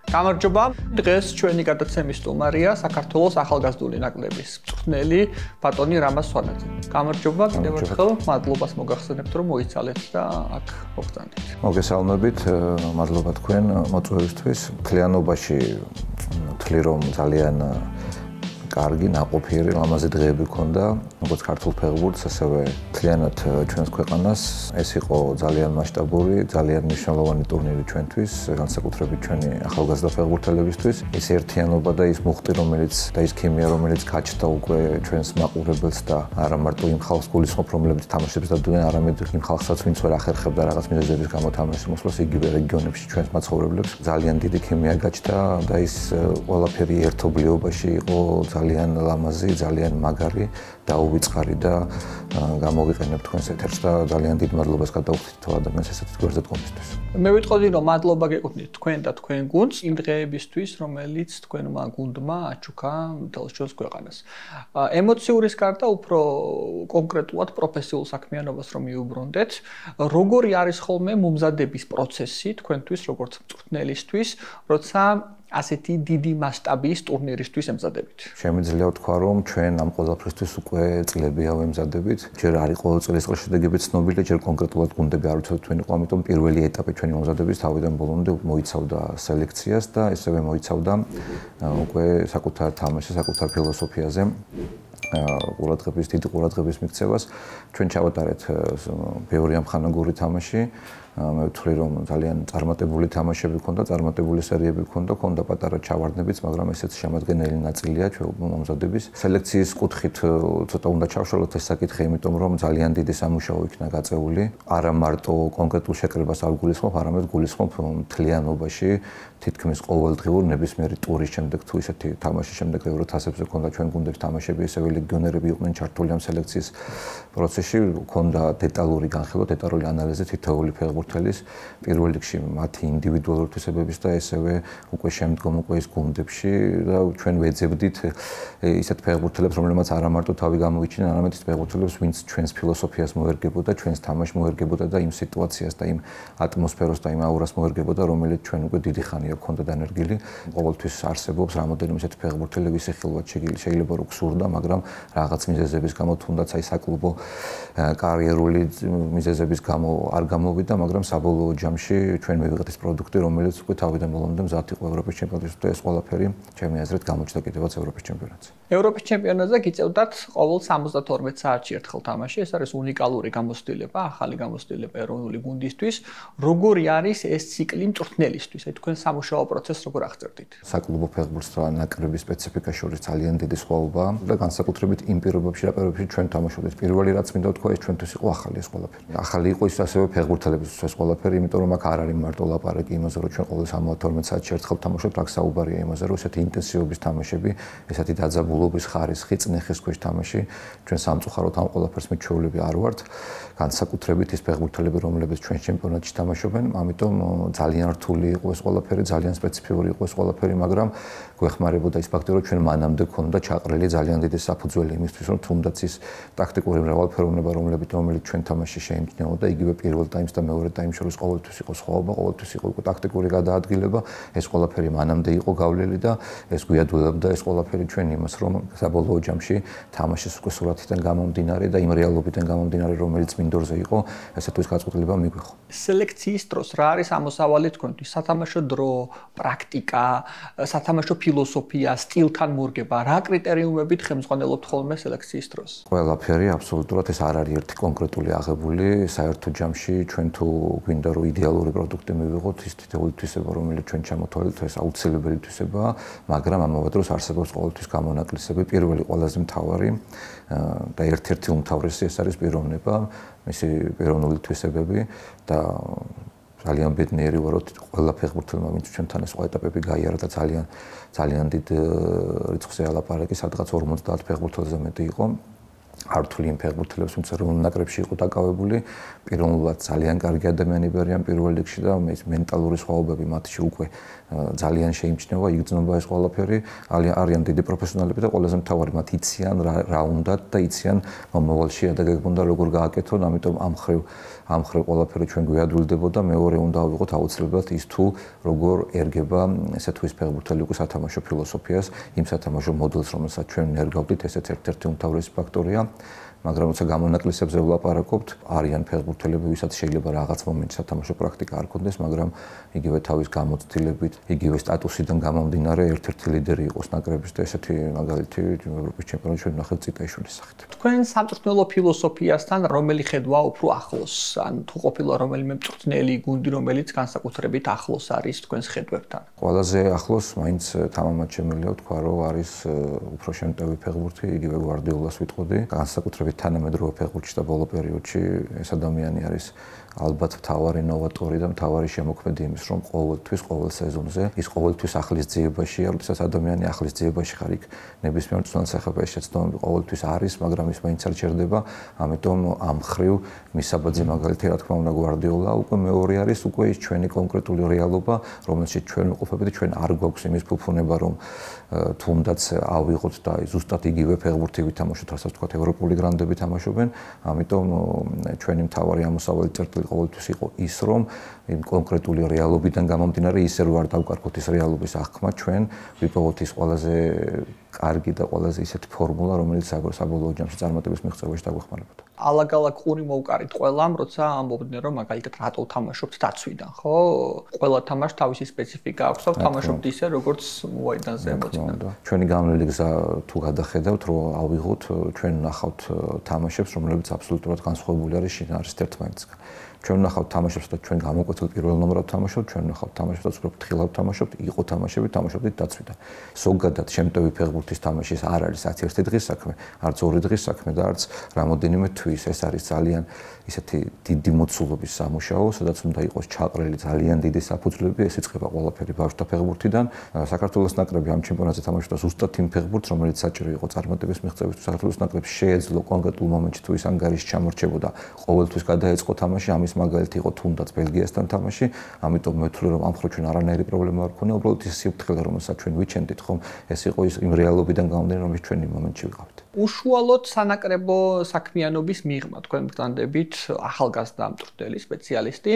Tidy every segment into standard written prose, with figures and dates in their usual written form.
გამარჯობა. დღეს ჩვენი გადაცემის სტუმარია საქართველოს ახალგაზრდული ნაკრების მწვრთნელი ბატონი რამაზ სვანაძე. გამარჯობა, კიდევ ერთხელ მადლობას მოგახსენებთ, რომ მოიცალეთ და აქ მოგწანდით. მოგესალმებით, მადლობა თქვენ მოწვევისთვის. მთლიანობაში ვთვლი რომ ძალიან კარგი, ნაყოფიერი, ლამაზი დღეები ჰქონდა, როგორც ქართულ ფეხბურთს, ასევე მთლიანად ჩვენს ქვეყანას. ეს იყო ძალიან მასშტაბური, ძალიან მნიშვნელოვანი ტურნირი ჩვენთვის, განსაკუთრებით ჩვენი ახალგაზრდა ფეხბურთელებისთვის. ის ერთიანობა და ის მუხტი, რომელიც და ის ქიმია, რომელიც გაჩნდა უკვე ჩვენს მაყურებელს და არა მარტო იმ ხალხს გულისხმობ, რომლებიც თამაშებს დადიან, არამედ იმ ხალხსაც, ვინც ვერ ახერხებდა რაღაც მიზეზების გამო თამაშის მოსვლას იგივე რეგიონებში ჩვენს მაცხოვრებლებს. ძალიან დიდი ქიმია გაჩნდა და ის ყველაფერი ერთობლიობაში იყო ძალიან ლამაზი, ძალიან მაგარი, დაუვიწყარი და გამოვიყენებ თქვენს ეთერს და ძალიან დიდ მადლობას გადავხდით თუ ადამიანს ესეთი გვერდზე დგომისთვის. მე ვიტყოდი რომ მადლობა გეკუთვნით თქვენ და თქვენ გუნდს იმ დღეებისთვის, რომელიც თქვენმა გუნდმა აჩუქა მთელს ჩვენს ქვეყანას. ემოციურის გარდა უფრო კონკრეტულად პროფესიულ საქმიანობას რომ მიუბრუნდეთ, როგორი არის ხოლმე მომზადების პროცესი თქვენთვის, როგორც მწვრთნელისთვის, როცა ასეთი დიდი მასშტაბის ტურნირისთვის ემზადებით. Შემიძლია ვთქვა, რომ ჩვენ ამ ყველაფრისთვის უკვე წლებია ვემზადებით. ჯერ არის ყოველ წლის შედეგები ცნობილი, ჯერ კონკრეტულად გუნდები არ ვიცოდეთ თქვენ იყო, ამიტომ პირველი ეტაპი ჩვენი მომზადების თავიდან ბოლომდე მოიცავდა სელექციას და ესევე მოიცავდა უკვე საკუთარ თამაშზე, საკუთარ ფილოსოფიაზე. დიდი ყურადღების მიქცევას. ჩვენ ჩავატარეთ ბევრი ამხანაგური თამაში. მე ვთვლი რომ ძალიან წარმატებული თამაშები ჰქონდა, წარმატებული სერიები ჰქონდა პატარა ჩავარდნებიც, მაგრამ ესეც შემადგენელი ნაწილია ჩვენ მომზადების. სელექციის კუთხით ცოტა უნდა ჩავშალოთ ეს საკითხი, იმიტომ რომ ძალიან დიდი სამუშაო იქნა გაწეული. არა მარტო კონკრეტულ შეკრებას არ გულისხმობ, არამედ გულისხმობ მთლიანობაში, თითქმის ყოველდღიურ ნებისმიერი ტურის შემდეგ თუ ისეთი თამაშის შემდეგ ევროთასებზე ჰქონდა ჩვენ გუნდებს თამაშები, ესევე ლეგიონერები იყვნენ ჩართული ამ სელექციის პროცესში, ჰქონდა დეტალური განხილვა, დეტალური ანალიზი თითოეული ფეხბურთელის პირველ რიგში მათი ინდივიდუალური თვისებების და ესევე უკვე შემდგომ უკვე ის გუნდებში და ჩვენ ვეძებდით ისეთ ფეხბურთელებს, რომლებმაც არა მარტო თავი გამოიჩინა, არამედ ის ფეხბურთელებს, ვინც ჩვენს ფილოსოფიას მოერგებოდა, ჩვენს თამაშს მოერგებოდა და იმ სიტუაციას და იმ ატმოსფეროს და იმ აურას მოერგებოდა, რომელიც ჩვენ უკვე დიდი ხანია გქონდა დანერგილი. ყოველთვის არსებობს რამოდენიმე ისეთი ფეხბურთელი, ვისი ხილვად შეიძლება რომ გსურდა, მაგრამ რაღაც მიზეზების გამო თუნდაც აი საკლუბო კარიერული მიზეზების გამო არ გამოვიდა, მაგრამ საბოლოო ჯამში ჩვენ მივიღეთ ის პროდუქტი, რომელიც უკვე თავიდან ბოლომდე მზად იყო ევროპის ჩემპიონატში და ეს ყველაფერი ჩემი აზრით გამოჩნდა კიდევაც ევროპის ჩემპიონატზე. ევროპის ჩემპიონატზე გიწევდათ ყოველ 72 საათში ერთხელ თამაში. ეს არის უნიკალური გამოცდილება, ახალი გამოცდილება ეროვნული გუნდისთვის. როგორი არის ეს ციკლი მწვრთნელისთვის? აი თქვენ სამუშაო პროცესს როგორ აღწერდით? საკლუბო ფეხბურთს და ნაკრების სპეციფიკა შორის ძალიან დიდი სხვაობაა და განსაკუთრებით იმ პირობებში, ჩვენ თამაშობდით. პირველი რაც მინდა ვთქვა, ეს ჩვენთვის იყო ახალი ეს ყველაფერი. ახალი იყო ის ასევე ფეხბურთელებისთვის ეს ყველაფერი, იმიტომ რომ აქ არ არის მარტო ლაპარაკი იმაზე, რომ ჩვენ ყოველ 72 საათში ერთხელ თამაშობთ, აქ საუბარია იმაზე, რომ ესეთი ინტენსივობის თამაშები, ესეთი დაძაბულობის ხარისხი, წნეხის ქვეშ თამაში, ჩვენ სამწუხაროდ ამ ყველაფერს მეჩვეულები არ ვართ. განსაკუთრებით ის ფეხბურთელები, რომლებიც ჩვენ ჩემპიონატში თამაშობენ, ამიტომ ძალიან რთული იყო ეს ყველაფერი, ძალიან სპეციფიური იყო ეს ყველაფერი, მაგრამ გვეხმარებოდა ის ფაქტი, რომ ჩვენ მანამდე ქონდა ჩაყრილი ძალიან დიდი საფუძველი იმისთვის, რომ თუნდაც ის ტაქტიკური მრავალფეროვნება, რომელიც ჩვენ თამაში შეიმჩნეოდა, იგივე პირველ ტაიმს და მეორე ტაიმს შორის ყოველთვის იყო სხვაობა, ყოველთვის იყო ტაქტიკური გადაადგილება, ეს ყველაფერი მანამდე იყო გავლილი და ეს გვიადვილებდა ეს ყველაფერი ჩვენ იმას, რომ საბოლოო ჯამში თამაშის უკვე სურათიდან გამომდინარე და იმ რეალობიდან გამომდინარე, რომელიც მინდორზე იყო, ესე თუ ის გაწყვეტილება მიგვიღო. სელექციის დროს რა არის ამოსავალი თქვენთვის? სათამაშო დრო, პრაქტიკა, სათამაშო ფილოსოფია, სტილთან მორგება, რა კრიტერიუმებით ხელმძღვანელობთ ხოლმე სელექციის დროს? ყველაფერი აბსოლუტურად ეს არ არის ერთი კონკრეტული აღებული, საერთო ჯამში ჩვენ თუ გვინდა რომ იდეალური პროდუქტი მივიღოთ, ის თითოეული თვისება, რომელიც ჩვენ ჩამოთვალეთ, ეს აუცილებელი თვისებაა, მაგრამ ამავე დროს არსებობს ყოველთვის გამონაკლისები. პირველი ყველაზე მთავარი და ერთ-ერთი უმთავრესი ეს არის პიროვნება, მისი პიროვნული თვისებები და ძალიან ბედნიერი ვარ, რომ ყველა ფეხბურთელმა, ვინც ჩვენთან ეს ეტაპები გაიარა და ძალიან დიდ რიცხვზე ალაპარაკი, სადღაც 50 ფეხბურთელზე მეტი იყო. ართული იმ ფეხბურთელებს, ვინც ეროვნულ ნაკრებში იყო დაკავებული, პირველად ძალიან კარგი ადამიანები არიან პირველ რიგში და ეს მენტალური სხვაობები მათში უკვე ძალიან შეიმჩნევა, იგრძნობა ეს ყველაფერი, არიან დიდი პროფესიონალები და ყველაზე მთავარი მათ იციან რა უნდათ და იციან მომავალში შედეგები უნდა როგორ გააკეთონ, ამიტომ ამ მხრივ ყველაფერი ჩვენ გვიადვილდებოდა, მეორე უნდა ავიღოთ აუცილებლად ის თუ როგორ ერგება ესე თუ ის ფეხბურთელი უკვე სათამაშო ფილოსოფიას, იმ სათამაშო მოდელს, რომელსაც ჩვენ ნერგავდით, ესეც ერთ-ერთი უმთავრესი ფაქტორია. მაგრამ როცა გამონაკლისებზე ვლაპარაკობთ, არიან ფეხბურთელები, ვისაც შეიძლება რაღაც მომენტში სათამაშო პრაქტიკა არ ქონდეს, მაგრამ იგივე თავის გამოცდილებით, იგივე სტატუსიდან გამომდინარე, ერთ-ერთი ლიდერი იყოს ნაკრების და ესეთი მაგალითი ევროპის ჩემპიონატში ჩვენ ნახეთ ციტაიშვილის სახით. თქვენ სამწვრთნელო ფილოსოფიასთან რომელი ხედვა უფრო ახლოს, ან თუ ყოფილა რომელიმე მწვრთნელი გუნდი, რომელიც განსაკუთრებით ახლოს არის თქვენს ხედვებთან? ყველაზე ახლოს მაინც თამამად შემიძლია ვთქვა, რომ არის უფრო შემტევი ფეხბურთი, იგივე გვარდიოლას ვიტყოდი, განსაკუთრებით თანამედროვე ფეხბურთში და ბოლო პერიოდში ეს ადამიანი არის ალბათ მთავარი ნოვატორი და მთავარი შემოქმედი იმის, რომ ყოველთვის, ყოველ სეზონზე ის ყოველთვის ახლის ძიებაშია, როდესაც ადამიანი ახლის ძიებაში ხარ, იქ ნებისმიერ მწვრთნელს ეს შეცდომები ყოველთვის არის, მაგრამ ის მაინც არ ჩერდება, ამიტომ ამ მხრივ მისაბაძე მაგალითი, რა თქმა უნდა, გვარდიოლა, უკვე მეორე არის, უკვე ის ჩვენი კონკრეტული რეალობა, რომელშიც ჩვენ ვიყოფებით, ჩვენ არ გვაქვს იმის ფუფუნება, რომ თუნდაც ავიღოთ და ზუსტად იგივე ფეხბურთი ვითამაშოთ, რასაც თქვა ევროპული გრანდები თამაშობენ, ამიტომ ჩვენი მთავარი ამოსავალი წერტილი ყოველთვის იყო ის, რომ იმ კონკრეტული რეალობიდან გამომდინარე ისე რომ არ დავკარგოთ ის რეალობის აღქმა, ჩვენ ვიპოვოთ ის ყველაზე კარგი და ყველაზე ისეთი ფორმულა, რომელიც საბოლოო ჯამში წარმატების მიღწევაში დაგვეხმარებოდა. ალაგ-ალაგ ყური მოვკარით ყველამ, როცა ამბობდნენ, რომ მაგალითად რატო თამაშობთ დაცვიდან, ხო? ყველა თამაშს თავისი სპეციფიკა აქვს და თამაშობთ ისე, როგორც მოაიდანზე ემოციონალურად. ჩვენი გამლელი გზა თუ გადახედავთ, რომ ავიღოთ, ჩვენ ნახავთ თამაშებს, რომლებიც აბსოლუტურად განსხვავებული არის შინაარსით ერთმანეთისგან. ჩვენ ნახავთ თამაშებს და ჩვენ გამოკვეთილ პირველ ნომრად თამაშობთ, ჩვენ ნახავთ თამაშებს და უფრო ფრთხილად თამაშობთ, იყო თამაშები, თამაშობთ დაცვიდან. ზოგადად შემტევი ფეხბურთის თამაშის არ არის არც ერთი დღის საქმე, არც ორი დღის საქმე და არც რამოდენიმე თვის. ეს არის ძალიან ისეთი დიდი მოცულობის სამუშაო, სადაც უნდა იყოს ჩაყრილი ძალიან დიდი საფუძვლები, ეს იწყება ყველაფერი ბავშვთა ფეხბურთიდან. საქართველოს ნაკრები ამ ჩემპიონატზე თამაშობდა ზუსტად იმ ფეხბურთს, რომელიც საჭირო იყო წარმატების მიღწევისთვის. საქართველოს ნაკრებს შეეძლო კონკრეტულ მომენტში თუ ის ანგარიში ჩამორჩებოდა, ყოველთვის გადაეწყო თამაში, ამის მაგალითი იყო თუნდაც ბელგიასთან თამაში, ამიტომ მე ვთვლი, რომ ამ მხრივ ჩვენ არანაირი პრობლემა არ ქონია, უბრალოდ ის სიფრთხილე, რომელსაც ჩვენ ვიჩენდით, ხომ, ეს იყო ის იმ რეალობიდან გამომდინარე, რომელიც ჩვენ იმ მომენტში ვიყავით. უშუალოდ სანაკრებო საქმიანობის მიღმა, თქვენ ბრძანდებით ახალგაზრდა მწვრთნელი სპეციალისტი,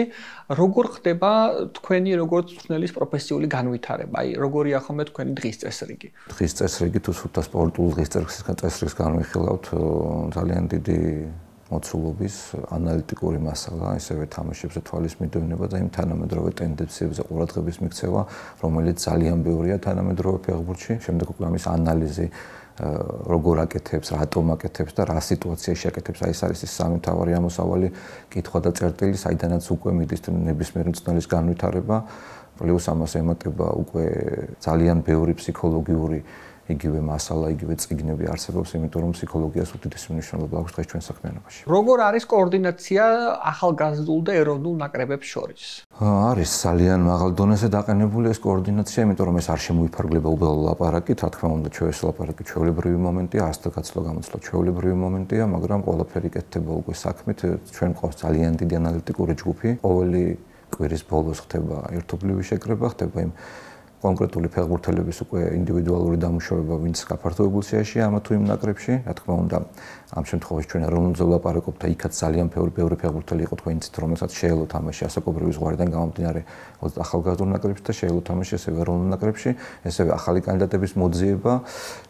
როგორ ხდება თქვენი როგორც მწვრთნელის პროფესიული განვითარება? აი, როგორია ხოლმე თქვენი დღის წესრიგი? დღის წესრიგი თუ სულთა სპორტულ დღის წესრიგს განვიხილავთ, ძალიან დიდი მოცულობის ანალიტიკური მასალა, ისევე თამაშებზე თვალის მიდევნება და იმ თანამედროვე ტენდენციებზე ყურადღების მიქცევა, რომელიც ძალიან ბევრია თანამედროვე ფეხბურთში. შემდეგ უკვე ამის ანალიზი როგორ აკეთებს, რატომ აკეთებს და რა სიტუაციაში აკეთებს, აი ეს არის ის სამი მთავარი ამოსავალი, კითხვა და წერტილი, საიდანაც უკვე მიდის ნებისმიერ მწვრთნელის განვითარება, პლუს ამას ემატება უკვე ძალიან ბევრი ფსიქოლოგიური იგივე მასალა, იგივე წიგნები არსებობს, იმიტომ რომ ფსიქოლოგიას უდიდესი მნიშვნელობა აქვს დღეს ჩვენ საქმიანობაში. როგორ არის კოორდინაცია ახალგაზრდულ და ეროვნულ ნაკრებებს შორის? არის ძალიან მაღალ დონეზე დაყენებული ეს კოორდინაცია, იმიტომ რომ ეს არ შემოიფარგლება უბედო ლაპარაკით, რა თქმა უნდა, ჩვენი ლაპარაკი ჩვეულებრივი მომენტია, ასთა გაცვლა გამოცვლა ჩვეულებრივი მომენტია, მაგრამ ყველაფერი კეთდება უკვე საქმით, ჩვენ ყავს ძალიან დიდი ანალიტიკური ჯგუფი, ყოველი კვირის ბოლოს ხდება ერთობლივი შეკრება, ხდება იმ კონკრეტული ფეხბურთელების უკვე ინდივიდუალური დამუშავება, ვინც გაფართოებულ სიაში ამა თუ იმ ნაკრებში, რა თქმა უნდა, ამ შემთხვევაში ჩვენ ეროვნულზე ვლაპარაკობთ და იქაც ძალიან ბევრი ფეხბურთელი იყო თქვენ იცით, რომელსაც შეეძლო თამაში ასაკობრივი ზღვარიდან გამომდინარე ახალგაზრდულ ნაკრებში და შეეძლო თამაში ასევე ეროვნულ ნაკრებში, ესევე ახალი კანდიდატების მოძიება,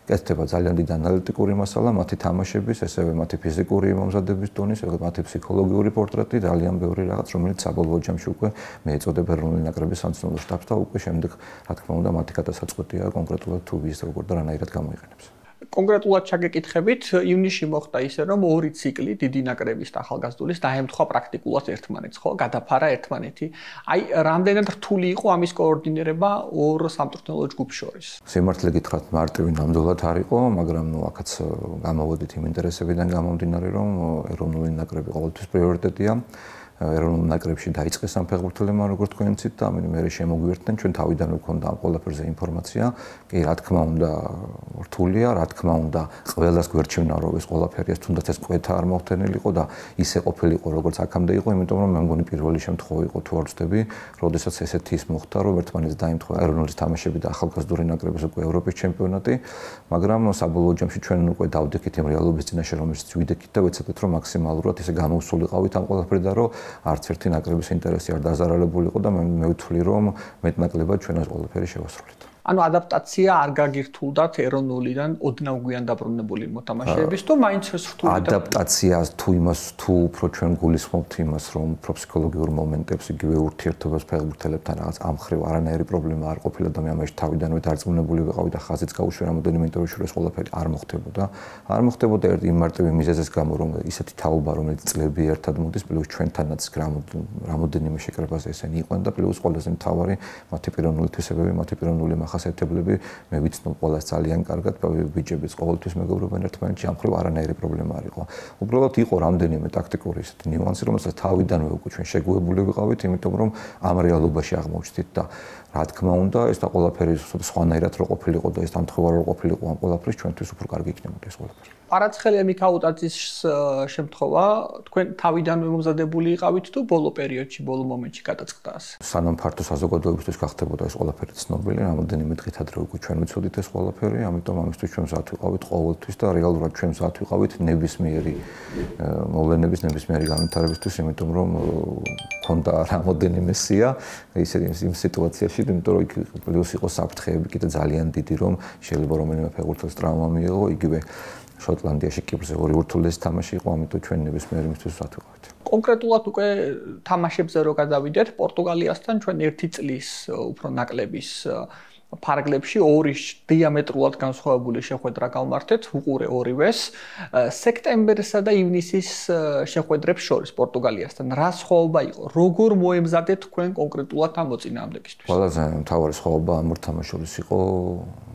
კეთდება ძალიან დიდი ანალიტიკური მასალა, მათი თამაშების, ესევე მათი ფიზიკური მომზადების დონის, მათი ფსიქოლოგიური პორტრეტი, ძალიან ბევრი რაღაც, რომელიც საბოლოო ჯამში უკვე მეეწოდება ეროვნული ნაკრების სამწვრთნელო შტაბს და უკვე შემდეგ, რა თქმა უნდა, მათი გადასაწყვეტია კონკრეტულად თუ ვის როგორ და რანაირად გამოიყენებს. კონკრეტულად ჩაგეკითხებით, ივნისში მოხდა ისე, რომ ორი ციკლი დიდი ნაკრების და ახალგაზრდულის დაემთხვა პრაქტიკულად ერთმანეთს, ხო? გადაფარა ერთმანეთი. აი, რამდენად რთული იყო ამის კოორდინირება ორ სამწვრთნელო ჯგუფს შორის? სიმართლე გითხრათ, მარტივი ნამდვილად არ იყო, მაგრამ აქაც გამოვედით იმ ინტერესებიდან გამომდინარე, რომ ეროვნული ნაკრები ყოველთვის პრიორიტეტია. ეროვნულ ნაკრებში დაიწყეს ამ ფეხბურთელებმა როგორც თქვენ იცით და ამიტომ მე შემოგვიერთდნენ ჩვენ თავიდანვე გვქონდა ამ ყველაფერზე ინფორმაცია. კი, რა თქმა უნდა, რთულია, რა თქმა უნდა, ყველას გვერჩევნა რომ ეს ყველაფერი ეს თუნდაც ეს კვეთა არ მოხდენილიყო და ისე ყოფილიყო როგორც აქამდე იყო, იმიტომ რომ მე მგონი პირველი შემთხვევა იყო თუ არ ვცდები, როდესაც ესეთი ის მოხდა, რომ ერთმანეთს დაემთხვა ეროვნული თამაშები და ახალგაზრდული ნაკრების უკვე ევროპის ჩემპიონატი, მაგრამ საბოლოო ჯამში ჩვენ უკვე დავდექით იმ რეალობის წინაშე, რომელშიც ვიდექით და ვეცადეთ რომ მაქსიმალურად ესე გამოვსულიყავით ამ ყველაფერიდან, რომ არც ერთი ნაკრების ინტერესი არ დაზარალებულიყო და მე ვთვლი რომ მეტნაკლებად ჩვენ ეს ყველაფერი შევასრულეთ. ანუ ადაპტაცია არ გაგირთულდათ ეროვნულიდან ოდნავ გვიან დაბრუნებული მოთამაშეების თუ მაინც ეს რთულია ადაპტაციას თუ იმას თუ უფრო ჩვენ გულისხმობთ იმას რომ პროფესიონალურ მომენტებს იგივე ურთიერთობას ფეხბურთელებთან რაღაც ამხრივ არანაირი პრობლემა არ ყოფილა და მე ამაში თავიდანვე დარწმუნებული ვიყავი და ხაზიც გაუშვი რამოდენიმე ინტერვიუში ეს ყველაფერი არ მოხდებოდა ერთ იმ მარტივი მიზეზის გამო რომ ისეთი თაობა რომელიც წლები ერთად მოდის პლუს ჩვენთანაც რამოდენიმე შეკრებაზე ესენი იყვნენ და პლუს ყველაზე მთავარი მათი პიროვნული თვისებები მათი პიროვნული ხასიათებლები მე ვიცნობ ყველას ძალიან კარგად ბიჭებიც ყოველთვის მეგობრობენ ერთმანეთში ამ ხრივ არანაირი პრობლემა არ იყო. უბრალოდ იყო რამდენიმე ტაქტიკური ისეთი ნიუანსი, რომელსაც თავიდანვე უკვე ჩვენ შეგუებული ვიყავით, იმიტომ რომ ამ რეალობაში აღმოჩნდით და რა თქმა უნდა, ეს და ყველაფერი სხვანაირად რო ყოფილიყო და ეს დამთხევარ რო ყოფილიყო ამ ყველაფრის ჩვენთვის უფრო კარგი იქნებოდა ეს ყველაფერი. პარაცხელია მიქაუტაძის შემთხვევა თქვენ თავიდანვე მომზადებული იყავით თუ ბოლო პერიოდში, ბოლო მომენტში გადაწყდა ასე? სანამ ფართო საზოგადოებისთვის გახდებოდა ეს ყველაფერი ცნობილი, რამოდენიმე დღით ადრე უკვე ჩვენ ვიცოდით ეს ყველაფერი, ამიტომ ამისთვის ჩვენ მზად ვიყავით ყოველთვის და რეალურად ჩვენ მზად ვიყავით ნებისმიერი მოვლენების, ნებისმიერი განვითარებისთვის, იმიტომ რომ ქონდა რამოდენიმე სია იმ სიტუაციაში, იმიტომ რომ იქ პლუს იყო საფრთხეები კიდე ძალიან დიდი, რომ შეიძლება რომელიმე ფეხბურთელს ტრავმა მიიღო, იგივე შოტლანდიაში კიპრზე ორი ურთულესი თამაში იყო, ამიტომ ჩვენ ნებისმიერ იმისთვის ვსად ვიყავით. კონკრეტულად უკვე თამაშებზე რო გადავიდეთ, პორტუგალიასთან ჩვენ 1 წლის უფრო ნაკლების ფარგლებში ორი დიამეტრულად განსხვავებული შეხვედრა გავმართეთ, უყურე ორივეს. სექტემბერსა და ივნისის შეხვედრებს შორის პორტუგალიასთან რა სხვაობა იყო? როგორ მოემზადეთ თქვენ კონკრეტულად ამ მოწინააღმდეგისთვის? ყველაზე მთავარი სხვაობა ამ ორ თამაშს შორის იყო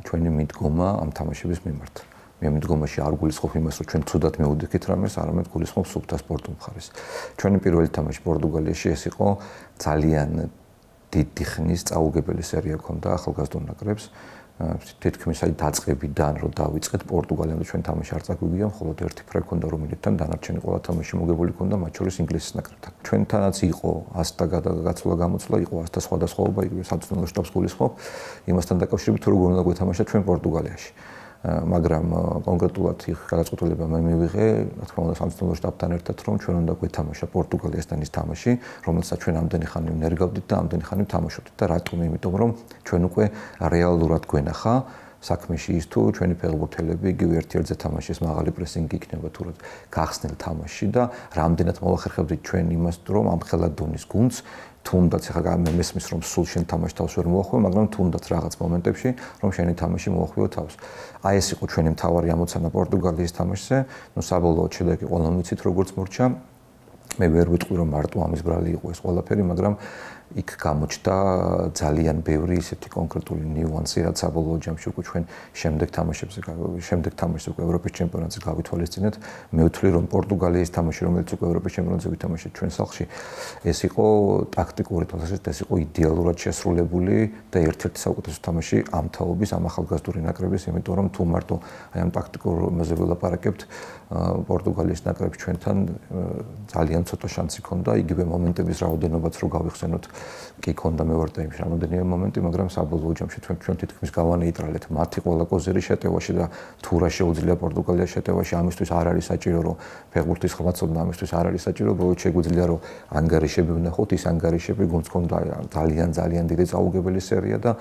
ჩვენი მიდგომა ამ თამაშების მიმართ. მე მიდგომაში არ გულისხმობ იმას, რომ ჩვენ ცუდად მივუდექით რამეს, არამედ გულისხმობ სუფთა სპორტულ მხარეს. ჩვენი პირველი თამაში პორტუგალიაში ეს იყო ძალიან დიდი ხნის წაუგებელი სერია ქონდა ახალგაზრდულ ნაკრებს. თითქმის აი დაწყებიდან რომ დავიწყეთ პორტუგალიამ და ჩვენ თამაში არ წაგვიგია, მხოლოდ ერთი ფრე ქონდა რომელთან დანარჩენი ყველა თამაში მოგებული ქონდა მათ შორის ინგლისის ნაკრებთან. ჩვენთანაც იყო 100 და გაცვლა გამოცვლა, იყო 100 სხვადასხვაობა, იგივე საწვრთნელო შტაბს გულისხმობ იმასთან დაკავშირებით თუ როგორ უნდა გვეთამაშა ჩვენ პორტუგალიაში. მაგრამ კონკრეტულად იქ გადაწყვეტილება მე მივიღე, რა თქმა უნდა, სამწვრთნელო შტაბთან ერთად, რომ ჩვენ უნდა გვეთამაშა პორტუგალიასთან ის თამაში, რომელსაც ჩვენ ამდენი ხანი ნერგავდით და ამდენი ხანი ვთამაშობდით და რატომ? იმიტომ რომ ჩვენ უკვე რეალურად გვენახა საქმეში ის თუ ჩვენი ფეხბურთელები იგივე ერთ-ერთზე თამაშის მაღალი პრესინგი იქნება თუ რა გახსნილ თამაში და რამდენად მოახერხებდით ჩვენ იმას, რომ ამ ხელად დონის გუნდს თუნდაც ახლა მესმის რომ სულ შენ თამაში თავს ვერ მოახვიო, მაგრამ თუნდაც რაღაც მომენტებში რომ შენი თამაში მოახვიო თავს. აი ეს იყო ჩვენი მთავარი ამოცანა პორტუგალიის თამაშზე. ნუ საბოლოოდ შედეგი ყველამ ვიცით როგორც მორჩა. მე ვერ ვიტყვი რომ მარტო ამის brali იყო ეს ყველაფერი, მაგრამ იქ გამოჩნდა ძალიან ბევრი ისეთი კონკრეტული ნიუანსი, რაც საბოლოო ჯამში უკვე ჩვენ შემდეგ თამაშს უკვე ევროპის ჩემპიონატზე გავითვალისწინეთ. მე ვთვლი რომ პორტუგალიის თამაში, რომელიც უკვე ევროპის ჩემპიონატზე ვითამაშეთ ჩვენ სახლში, ეს იყო ტაქტიკური თვალსაზრისით, ეს იყო იდეალურად შესრულებული და ერთ-ერთი საუკეთესო თამაში ამ თაობის, ამ ახალგაზრდული ნაკრების, იმიტომ რომ თუ მარტო აი ამ ტაქტიკურ მეზზე ვილაპარაკებთ, პორტუგალიის ნაკრებს ჩვენთან ძალიან ცოტა შანსი ქონდა, იგივე მომენტების რაოდენობაც რო გავიხსენოთ, კი ქონდა მე ვარ და იმ რამოდენიმე მომენტი, მაგრამ საბოლოო ჯამში ჩვენ თითქმის გავანეიტრალეთ მათი ყველა კოზირი შეტევაში და თუ რა შეუძლია პორტუგალიის შეტევაში, ამისთვის არ არის საჭირო რომ ფეხბურთის ხმაცოდნა, ამისთვის არ არის საჭირო, უბრალოდ შეგვიძლია რომ ანგარიშები ვნახოთ, ის ანგარიშები გუნდს ქონდა ძალიან დიდი წაუგებელი სერია და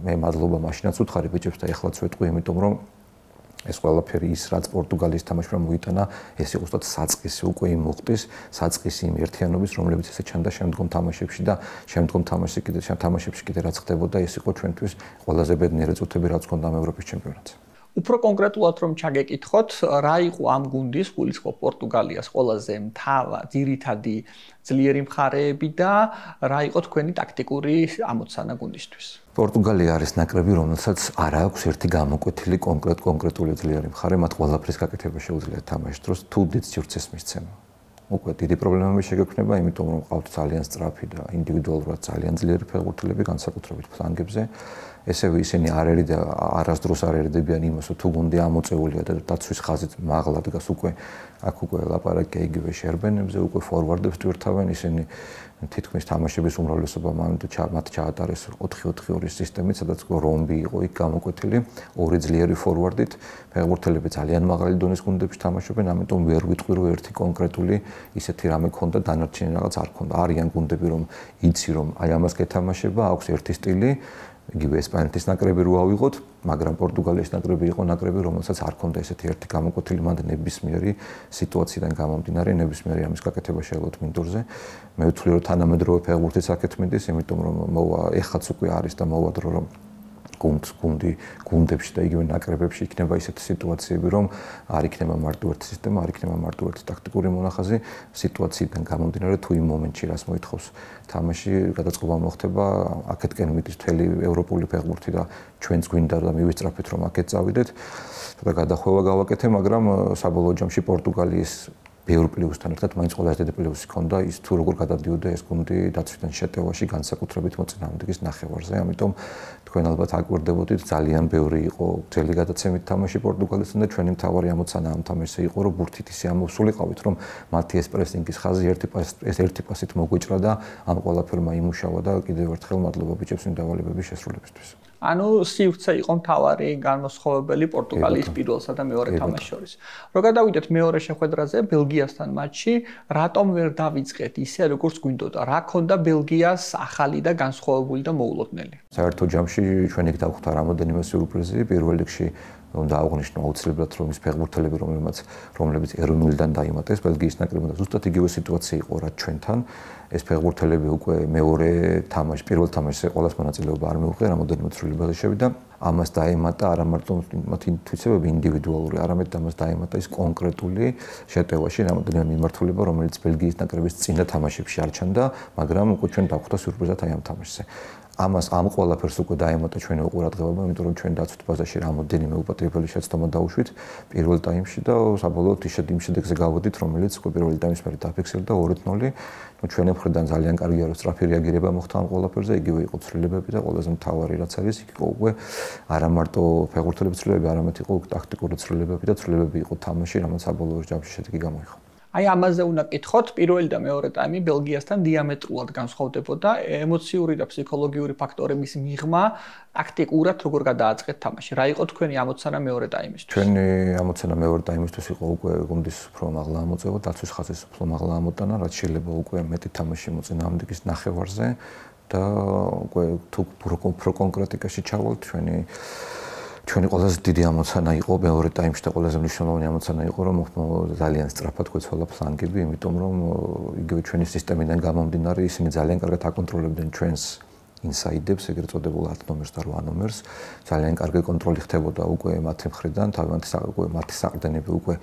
მე მადლობა მაშინაც უთხარი ბიჭებს და ეხლაც ვეტყვი, იმიტომ რომ ეს ყველაფერი ის რაც პორტუგალიის თამაშმა მოიტანა, ეს იყო უბრალოდ საწყისი უკვე იმ მოხდის, საწყისი იმ ერთიანობის, რომლებიც ესე ჩანდა შემდგომ თამაშებში და შემდგომ თამაშებში კიდე რაც ხდებოდა, ეს იყო ჩვენთვის ყველაზე ბედნიერი წუთები, რაც ჰქონდა ევროპის ჩემპიონატზე. უფრო კონკრეტულად რომ ჩაგეკითხოთ, რა იყო ამ გუნდის, გულისხმობ პორტუგალიას ყველაზე ძირითადი ძლიერი მხარეები და რა იყო თქვენი ტაქტიკური ამოცანა გუნდისთვის? პორტუგალია არის ნაკრები, რომელსაც არ აქვს ერთი გამოკვეთილი კონკრეტული ძლიერი მხარე, მათ ყველაფრის გაკეთება შეუძლიათ თამაშის დროს, თუ დიდ სივრცეს მისცემა. უკვე დიდი პრობლემები შეგექმნება, იმიტომ რომ ყავთ ძალიან სწრაფი და ინდივიდუალურად ძალიან ძლიერი ფეხბურთელები განსაკუთრებით ფლანგებზე. ესევე ისინი არ ერი და არასდროს არ ერიდებიან იმას, თუ გუნდი ამოწეულია და დაცვის ხაზით მაღლა დგას უკვე აქ უკვე ლაპარაკია იგივე შერბენებზე, უკვე ფორვარდებს ტვირთავენ ისინი თითქმის თამაშების უმრავლესობა მათ ჩაატარეს 4-4-2 სისტემით, სადაც რომბი იყო იქ გამოკვეთილი, ორი ძლიერი ფორვარდით, ფეხბურთელები ძალიან მაღალი დონის გუნდებში თამაშობენ, ამიტომ ვერ ვიტყვი რომ ერთი კონკრეტული ისეთი რამე ქონდა, დანარჩენი რაღაც არ ქონდა. არიან გუნდები რომ იცი რომ აი ამას გეთამაშება, აქვს ერთი სტილი, იგივე ესპანეთის ნაკრები რო ავიღოთ, მაგრამ პორტუგალიის ნაკრები იყო ნაკრები, რომელსაც არ ქონდა ესეთი ერთი გამოკვეთილი მანდ ნებისმიერი სიტუაციიდან გამომდინარე, ნებისმიერი ამის გაკეთება შეეძლოთ მინდორზე. მე ვთვლი რომ თანამედროვე ფეხბურთის საკეთ მიდის, იმიტომ რომ მოვა ეხაც უკვე არის და მოვა დრო რომ გუნდებში და იგივე ნაკრებებში იქნება ისეთი სიტუაციები, რომ არ იქნება მარტო ერთი სისტემა, არ იქნება მარტო ერთი ტაქტიკური მონახაზი, სიტუაციიდან გამომდინარე თუ იმ მომენტში რას მოითხოვს თამაში, გადაწყობა მოხდება, აქეთკენ მიდის მთელი ევროპული ფეხბურთი და ჩვენც გვინდა და მივისწრაფეთ რომ აქეთ წავიდეთ და გადახვევა გავაკეთე, მაგრამ საბოლოო ჯამში პორტუგალიის ბევრ პლუსთან ერთად მაინც ყველაზე დიდი პლუსი ჰქონდა ის თუ როგორ გადადიოდა ეს გუნდი დაცვიდან შეტევაში განსაკუთრებით მოწინააღმდეგის ნახევარზე. ამიტომ თქვენ ალბათ აკვირდებოდით, ძალიან ბევრი იყო ძელი გადაცემით თამაში პორტუგალიასთან და ჩვენი მთავარი ამოცანა ამ თამაშზე იყო, რომ ბურთით ისე ამოვსულიყავით, რომ მათი ეს პრესინგის ხაზი ერთი პასით მოგვიჭრა და ამ ყველაფერმა იმუშავა და კიდევ ერთხელ მადლობა ბიჭებს იმ დავალებების შესრულებისთვის. ანუ სივრცე იყო მთავარი განმოსხოვებელი პორტუგალიის პირველსა და მეორე თამაშის შორის. რო გადავიდეთ მეორე შეხვედრაზე ბელგიასთან მატჩში, რატომ ვერ დავიწყეთ ისე როგორც გვინდოდა? რა ქონდა ბელგიას ახალი და განსხვავებული და მოულოდნელი? საერთო ჯამში ჩვენ იქ დავხვდა რამოდენიმე სიურპრიზი. პირველ რიგში უნდა აღვნიშნო აუცილებლად რომ ის ფეხბურთელები რომლებიც ეროვნულიდან დაიმატეს ბელგიის ნაკრებმა და ზუსტად იგივე სიტუაცია იყო რაც ჩვენთან. ეს ფეხბურთელები უკვე მეორე თამაშში, პირველ თამაშზე ყოველას მონაწილეობა არ მიუღია, რამოდენიმე ცვლილებაზე შევიდა. ამას დაემატა არა მარტო მათი ინტუიციები ინდივიდუალური, არამედ ამას დაემატა ის კონკრეტული შეტევაში რამოდენიმე მიმართულება, რომელიც ბელგიის ნაკრების წინა თამაშებში არ ჩანდა, მაგრამ უკვე ჩვენ დავხვდა სიურპრიზად აი ამ თამაშზე. ამ ყველაფერს უკვე დაემატა ჩვენი უყურადღება, იმიტომ რომ ჩვენ დაცვით ბაზაში რამოდენიმე უპატრიობელი შეცდომა დავუშვით პირველ ტაიმში და საბოლოოდ იმ შედეგზე გავოდით, რომელიც უკვე პირველი ტაიმის მერე დაფიქსირდა 2-0. ჩვენი მხრიდან ძალიან კარგია რომ სწრაფი რეაგირება მოხდა ამ ყველაფერზე, იგივე იყო ცვლილებები და ყველაზე მთავარი რაც არის, იქ იყო უკვე არა მარტო ფეხბურთელების ცვლილებები, არამედ იყო ტაქტიკური ცვლილებები და ცვლილებები იყო თამაში, რომელიც საბოლოო ჯამში შედეგი გამოიღო. აი ამაზე უნდა კითხოთ, პირველი და მეორე ტაიმი ბელგიასთან დიამეტრულად განსხვავდებოდა, ემოციური და ფსიქოლოგიური ფაქტორების მიღმა ტაქტიკურად როგორ გადააწყეთ თამაში. რა იყო თქვენი ამოცანა მეორე ტაიმისთვის? ჩვენი ამოცანა მეორე ტაიმისთვის იყო უკვე გუნდის უფრო მაღლა ამოწევა, დაცვის ხაზის უფრო მაღლა ამოტანა, რაც შეიძლება უკვე მეტი თამაში მოწინააღმდეგის ნახევარზე და უკვე თუ უფრო კონკრეტიკაში ჩავალთ ჩვენი ყველაზე დიდი ამოცანა იყო მეორე ტაიმში და ყველაზე მნიშვნელოვანი ამოცანა იყო რომ ძალიან სწრაფად გვეცვალა ფლანგები, იმიტომ რომ იგივე ჩვენი სისტემიდან გამომდინარე ისინი ძალიან კარგად აკონტროლებდნენ ჩვენს ინსაიდებს, ეგრეთ წოდებულ 10 ნომერს და 8 ნომერს. ძალიან კარგი კონტროლი ხდებოდა უკვე მათი მხრიდან, მათი საყრდენები უკვე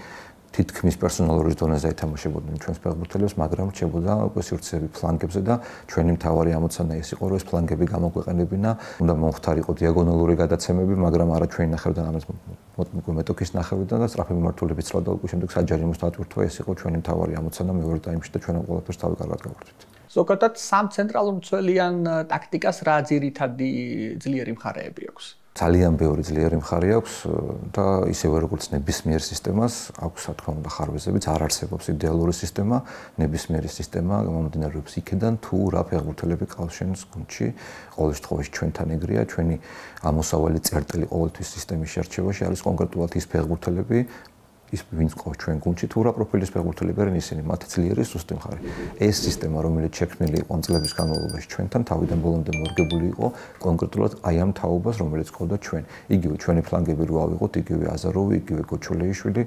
თითქმის პერსონალურის დონეზე ეთამაშებოდნენ ჩვენს ფეხბურთელებს, მაგრამ რჩებოდა უკვე სივრცეები ფლანგებზე და ჩვენი მთავარი ამოცანა ეს იყო, რომ ეს ფლანგები გამოგვეყენებინა. უნდა მომხდარიყო დიაგონალური გადაცემები, მაგრამ არა ჩვენი ნახევრიდან, ამას უკვე მეტოქის ნახევრიდან და სწრაფი მიმართულებით ცლა და უკვე შემდეგ საჯარიმოს დატვირთვა, ეს იყო ჩვენი მთავარი ამოცანა მეორე ტაიმში და ჩვენ ყველაფერს თავი კარგად გავხდით. ზოგადად სამ ცენტრალურ მცველიან ტაქტიკას რა ძირითადი ძლიერი მხარეები აქვს? ძალიან ბევრი ძლიერი მხარე აქვს და ისევე როგორც ნებისმიერ სისტემას აქვს რა თქმა უნდა ხარვეზებიც, არ არსებობს იდეალური სისტემა, ნებისმიერი სისტემა გამომდინარეობს იქიდან თუ რა ფეხბურთელები ყავს შენს გუნდში. ყოველ შემთხვევაში ჩვენთან ეგრეა, ჩვენი ამოსავალი წერტილი ყოველთვის სისტემის შერჩევაში არის კონკრეტულად ის ფეხბურთელები, ის ვინც ყავს ჩვენ გუნდში თუ რა პროფილის ფეხბურთელები არიან ისინი, მათი ძლიერი სუსტი მხარე. ეს სისტემა, რომელიც შექმნილი იყო წლების განმავლობაში ჩვენთან, თავიდან ბოლომდე მორგებული იყო კონკრეტულად აი ამ თაობას, რომელიც ყავდა ჩვენ. იგივე ჩვენი ფლანგები რო ავიღოთ, იგივე აზაროვი, იგივე გოჩოლეიშვილი,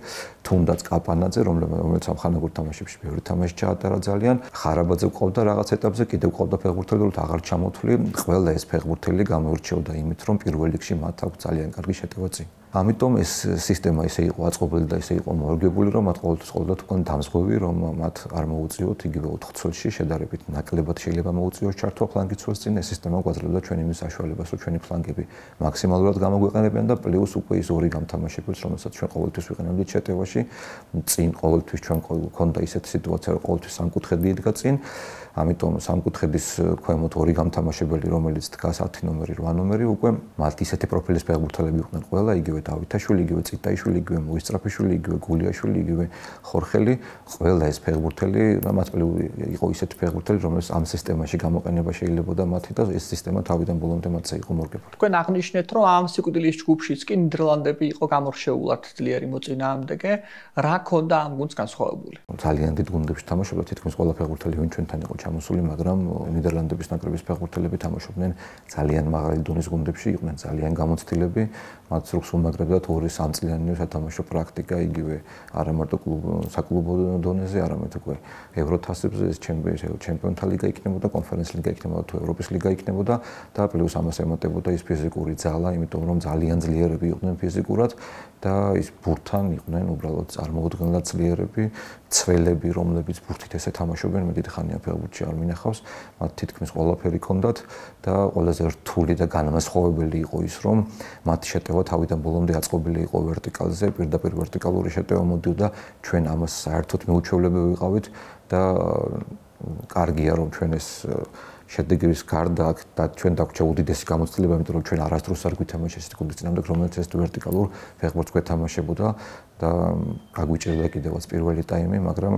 თუნდაც კაპანაძე, რომელიც ამ ხანაგურ თამაშებში ბევრი თამაში ჩაატარა ძალიან, ხარაბაძე ყავდა რაღაც ეტაპზე, კიდევ ყავდა ფეხბურთელი, რომ აღარ ჩამოთვლი. ყველა ეს ფეხბურთელი გამოირჩეოდა იმით, რომ პირველ რიგში მათ აქვს ძალიან კარგი შეტევა წინ. ამიტომ ეს სისტემა ისე იყო აწყობილი და ისე იყო მორგებული, რომ მათ ყოველთვის ყოლდათ უკვე დამზღვევი, რომ მათ არ მოუწიოთ იგივე 4 წელში შედარებით ნაკლებად შეიძლება მოუწიოს ჩართვა ფლანგის წელს წინ ეს სისტემა გვაძლევდა ჩვენ იმის საშუალებას, რომ ჩვენი ფლანგები მაქსიმალურად გამოგვეყენებიან და პლუს უკვე ის ორი გამთამაშებელს, რომელსაც ჩვენ ყოველთვის ვიყენებდით შეტევაში, წინ ყოველთვის ჩვენ გვქონდა ისეთი სიტუაცია, რომ ყოველთვის სამკუთხედი იდგა წინ. ამიტომ სამკუთხედის ქვემოთ ორი გამთამაშებელი, რომელიც დგას 10 ნომერი, 8 ნომერი, უკვე მათ ისეთი პროფილის ფეხბურთელები იყვნენ ყველა, იგივე დავითაშვილი, იგივე წიტაიშვილი, იგივე მოისწრაფიშვილი, იგივე გულიაშვილი, იგივე ხორხელი, ყველა ეს ფეხბურთელი და მათ იყო ისეთი ფეხბურთელი, რომელიც ამ სისტემაში გამოყენება შეიძლებოდა მათი და ეს სისტემა თავიდან ბოლომდე მათზე იყო მორგებული. თქვენ აღნიშნეთ, რომ ამ სიკვდილის ჯგუფშიც კი ნიდერლანდები იყო გამორჩეულად ძლიერი მოწინააღმდეგე, რა ქონდა ამ გუნდს განსხვავებული? ძალიან დიდ გუნდებში თამაშობდა თითქმის ყველა ფეხბურთელი, ვინ ჩვენთან იყო ჩამოსული, მაგრამ ნიდერლანდების ნაკრების ფეხბურთელები თამაშობდნენ ძალიან მაღალი დონის გუნდებში, იყვნენ ძალიან გამოცდილები, მათ სრულს უმაგრებდათ 2-3 წლიანი სათამაშო პრაქტიკა, იგივე არა მარტო საკლუბო დონეზე, არამედ უკვე ევროთასებზე, ჩემპიონთა ლიგა იქნებოდა, კონფერენცის ლიგა იქნებოდა, თუ ევროპის ლიგა იქნებოდა და პლუს ამას ემატებოდა ის ფიზიკური ძალა, იმიტომ რომ ძალიან ძლიერები იყვნენ ფიზიკურად და ის ბურთთან იყვნენ უბრალოდ წარმოუდგენლად ძლიერები, ცველები, რომლებიც ბურთით ესე თამაშობენ, მე დიდი ხანია ფეხბურთში არ მინახავს, მათ თითქმის ყველაფერი ჰქონდათ და ყველაზე რთული და განმასხვავებელი იყო ის, რომ მათი შეტევა თავიდან ბოლომდე აწყობილი იყო ვერტიკალზე, პირდაპირ ვერტიკალური შეტევა მოდიოდა, ჩვენ ამას საერთოდ მიუჩვეულები ვიყავით და კარგია რომ ჩვენ ეს შედეგების გარდა და ჩვენ დაგვჭა უდიდესი გამოცდილება, იმიტომ რომ ჩვენ არასდროს არ გვითამაშეს ეს გუნდის წინამდე, რომელიც ეს ვერტიკალურ ფეხბურთს გვეთამაშებოდა და გაგვიჭირდა კიდევაც პირველი ტაიმი, მაგრამ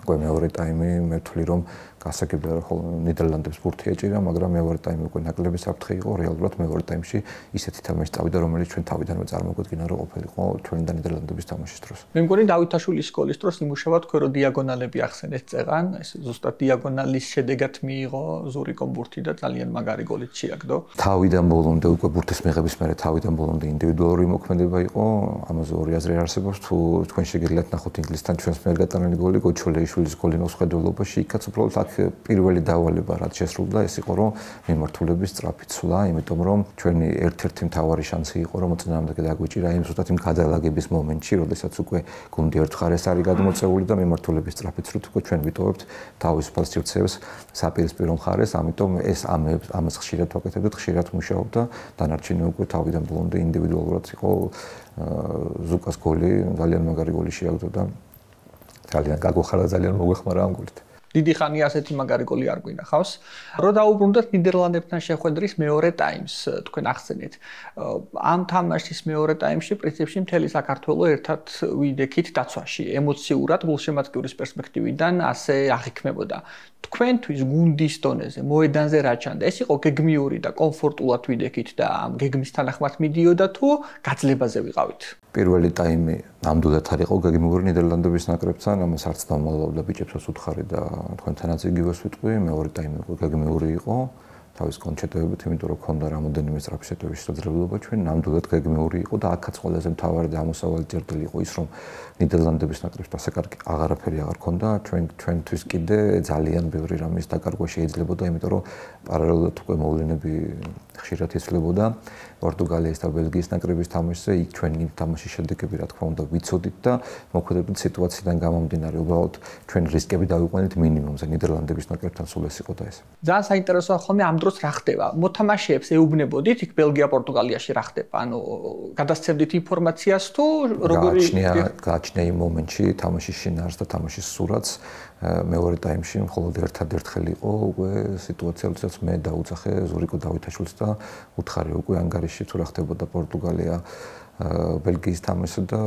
უკვე მეორე ტაიმი მე ვთვლი რომ გასაგებია რომ ნიდერლანდებს ბურთი ეჭირა, მაგრამ მეორე ტაიმი უკვე ნაკლები საფრთხე იყო, რეალურად მეორე ტაიმში ისეთი თამაში წავიდა, რომელიც ჩვენ თავიდანვე წარმოგვიდგინა რომ ყოფილიყო ჩვენ და ნიდერლანდების თამაშის დროს. მე მგონი დავითაშვილის სკოლის დროს იმუშავა თქვენ რომ დიაგონალები ახსენეთ წეღან, ეს ზუსტად დიაგონალის შედეგად მიიღო ზურიკომ ბურთი და ძალიან მაგარი გოლით შეაგდო. თავიდან ბოლომდე უკვე ბურთის მიღების მერე თავიდან ბოლომდე ინდივიდუალური მოქმედება იყო, ამაზე ორი აზრი არსებობს, თუ თქვენ შეგიძლიათ ნახოთ ინგლისთან ჩვენს მიერ გატანილი გოლი, გოჩოლეიშვილის გოლი მოსხედველობაში, იქაც უბრალოდ პირველი დავალება რაც შესრულდა ეს იყო რომ მიმართულების სწრაფი ცვლა, იმიტომ რომ ჩვენი ერთ-ერთი მთავარი შანსი იყო რომ მოწინააღმდეგე დაგვიჭირა იმ ზუსტად იმ გადალაგების მომენტში, როდესაც უკვე გუნდი ერთ მხარეს არის გადმოწეული და მიმართულების სწრაფი ცვლით უკვე ჩვენ ვიტოვებთ თავისუფალ სივრცეებს საპირისპირო მხარეს, ამიტომ ეს ამას ხშირად ვაკეთებდით, ხშირად მუშაობდა, დანარჩენი უკვე თავიდან ბოლომდე ინდივიდუალურად იყო ზუკას გოლი, ძალიან მაგარი გოლი შეაგდო და ძალიან გაგვეხარა, ძალიან მოგვეხმარა ამ გოლით. დიდი ხანია ასეთი მაგარი გოლი არ გვინახავს. რო დაუბრუნდეთ ნიდერლანდებთან შეხვედრის მეორე ტაიმს, თქვენ ახსენეთ. ამ თამაშის მეორე ტაიმში პრინციპში მთელი საქართველო ერთად ვიდექით დაცვაში, ემოციურად, გულშემატკივრის პერსპექტივიდან ასე აღიქმებოდა. თქვენთვის გუნდის დონეზე, მოედანზე რა ჩანდა? ეს იყო გეგმიური და კომფორტულად ვიდექით და ამ გეგმის თანახმად მიდიოდა თუ გაძლებაზე ვიყავით? პირველი ტაიმი ნამდვილად არ იყო გეგმიური ნიდერლანდების ნაკრებთან, ამას არც დამალავდა ბიჭებსაც უთხარი და თქვენთანაც იგივეს ვიტყვი, მეორე ტაიმი უკვე გეგმიური იყო, თავის კონჩეტებით, იმიტომ რომ ქონდა რამოდენიმე სწრაფი შეტევის შესაძლებლობა ჩვენ, ნამდვილად გეგმიური იყო და აქაც ყველაზე მთავარი და ამოსავალი წერტილი იყო ის, რომ ნიდერლანდების ნაკრებს ასე კარგი აღარაფერი აღარ ქონდა, ჩვენთვის კიდე ძალიან ბევრი რამის დაკარგვა შეიძლებოდა, იმიტომ რომ პარალელურად უკვე მოვლენები ხშირად იცვლებოდა პორტუგალიის და ბელგიის ნაკრების თამაშზე, იქ ჩვენი თამაშის შედეგები რა თქმა უნდა ვიცოდით და მოქმედებდით სიტუაციიდან გამომდინარე, უბრალოდ ჩვენ რისკები დავიყვანეთ მინიმუმზე, ნიდერლანდების ნაკრებთან სულ ეს იყო და ეს. ძალიან საინტერესოა ხოლმე ამ დროს რა ხდება? მოთამაშეებს ეუბნებოდით იქ ბელგია, პორტუგალიაში რა ხდება? ანუ გადასცემდით ინფორმაციას თუ როგორი გააჩნია იმ მომენტში თამაშის შინაარსს და თამაშის სურათს მეორე ტაიმში მხოლოდ ერთადერთხელ იყო უკვე სიტუაცია, როდესაც მე დაუძახე ზურიკო დავითაშვილს და უთხარი უკვე ანგარიში თუ რა ხდებოდა პორტუგალია ბელგიის თამაშზე და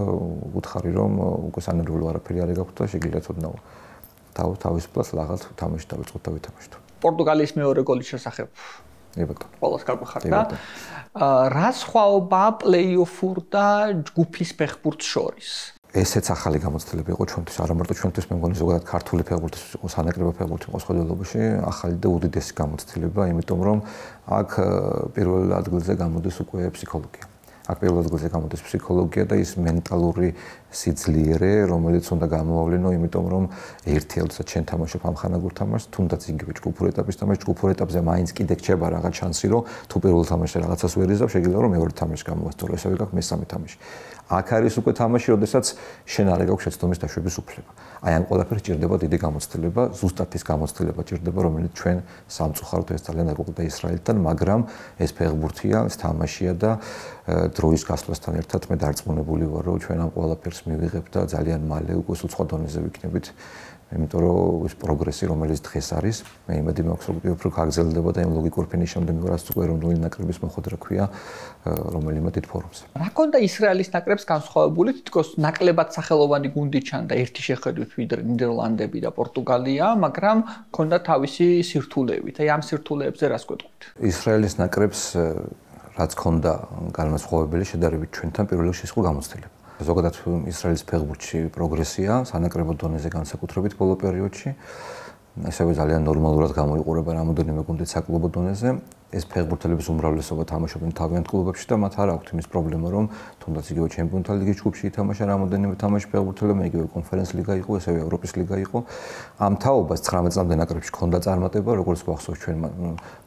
უთხარი რომ უკვე სანერვულო არაფერი არ გაქვთ და შეგიძლიათ ოდნავ თავისუფლად ლაღალ თამაში დავიწყოთ და ვითამაშოთ. პორტუგალიის მეორე გოლის შესახებ ებატონო. ყველას გაგვეხარდა. რა სხვაობა პლეი-ოფურ და ჯგუფის ფეხბურთს შორის? ესეც ახალი გამოცდილება იყო ჩვენთვის, არა მარტო ჩვენთვის, მე მგონი ზოგადად ქართული ფეხბურთის იყო, სანაკრებო ფეხბურთი იყო სხვადასხვაში, ახალი და უდიდესი გამოცდილება, იმიტომ რომ აქ პირველ ადგილზე გამოდის უკვე ფსიქოლოგია. აქ პირველ ადგილზე გამოდის ფსიქოლოგია და ის მენტალური სიძლიერე, რომელიც უნდა გამოვავლინო, იმიტომ რომ ერთიალოდაც ჩვენ თამაშობ ამ ხანაგურ თამაშს, თუნდაც იგივე ჯგუფურ ეტაპის თამაში, ჯგუფურ ეტაპზე მაინც კიდე რჩება რაღაც შანსი, რომ თუ პირველ თამაშზე რაღაცას ვერ იზამ, შეგიძლია რომ მეორე თამაში გამოვასწორო, ესევე გაქვს მესამე თამაში. აქ არის უკვე თამაში, როდესაც შენ არ გაქვს შეცდომის დაშვების უფლება. აი ამ ყველაფერს ჭირდება დიდი გამოცდილება, ზუსტად ის გამოცდილება ჭირდება, რომელიც ჩვენ სამწუხაროდ ეს ძალიან არ გვყდა ისრაელთან, მაგრამ ეს ფეხბურთია, ეს თამაშია და დროის გასვლასთან ერთად მე დარწმუნებული ვარ, რომ ჩვენ ამ ყველაფერს მივიღებთ და ძალიან მალე უკვე სხვა დონეზე ვიქნებით. იმიტომ რომ ეს პროგრესი, რომელიც დღეს არის, მე იმედი მაქვს, რომ უფრო გაგრძელდება და იმ ლოგიკურ ფინიშამდე მივარაც უკვე ეროვნული ნაკრების მოხვედრა ქვია რომელიმე დიდ ფორუმზე. რა ქონდა ისრაელის ნაკრებს განსხვავებული, თითქოს ნაკლებად სახელოვანი გუნდი ჩანდა ერთი შეხედვით ვიდრე ნიდერლანდები და პორტუგალია, მაგრამ ქონდა თავისი სირთულეებით. აი ამ სირთულეებზე რას გვეტყვით? ისრაელის ნაკრებს რაც ქონდა განმასხვავებელი შედარებით ჩვენთან პირველ რიგში იყო გამოცდილება. ზოგადად ისრაელის ფეხბურთში პროგრესია სანაკრებო დონეზე განსაკუთრებით ბოლო პერიოდში. ესევე ძალიან ნორმალურად გამოიყურება რამოდენიმე გუნდი საკლუბო დონეზე. ეს ფეხბურთელების უმრავლესობა თამაშობენ თავიანთ კლუბებში და მათ არ აქვთ იმის პრობლემა, რომ თუნდაც იგივე ჩემპიონთა ლიგის ჯგუფში ითამაშა რამოდენიმე თამაში ფეხბურთელებმა, იგივე კონფერენს ლიგა იყო, ესევე ევროპის ლიგა იყო. ამ თაობას 19 წლამდე ნაკრებში ჰქონდა წარმატება, როგორც გვახსოვს ჩვენ